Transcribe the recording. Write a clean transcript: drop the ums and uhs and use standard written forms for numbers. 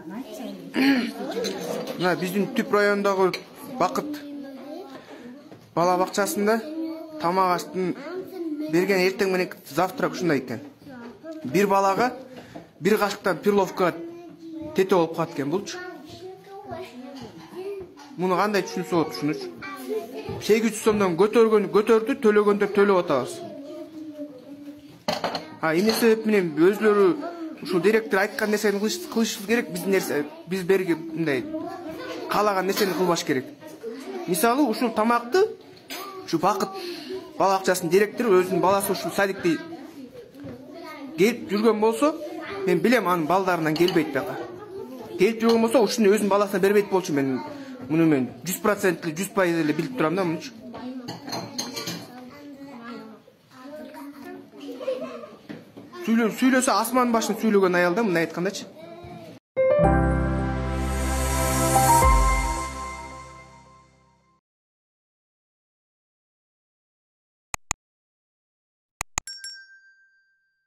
Мына биздин Түп районундагы Бакыт бала бакчасында тамак аштын берген эртең менен завтрак ушундай экен. Бир балага бир кашыктан перловка тете болуп калат экен булчу. Муну кандай түшүнсө болот ушунучу. 800 сомдон көтөрдү, төлөгөндөр төлөп атабыз. Эмне себеп менен өзлөрү ушул директор айткан нерсени кылышыбыз керек, биз берги мындай каалаган нерсени кылбаш керек. Мисалы ушул тамакты ушу Бакыт бала бакчасынын директору өзүнүн баласы ушул садикте келип жүргөн болсо, мен билем анын балдарынан келбейт бияка. Келип жүргөн болсо ушуну өзүнүн баласына бербейт болчу. Мен муну 100% 100% эле билип турам да мунчу. Сүйлөсө асман башын сүйлөгөн аял да, мындай айткандачы.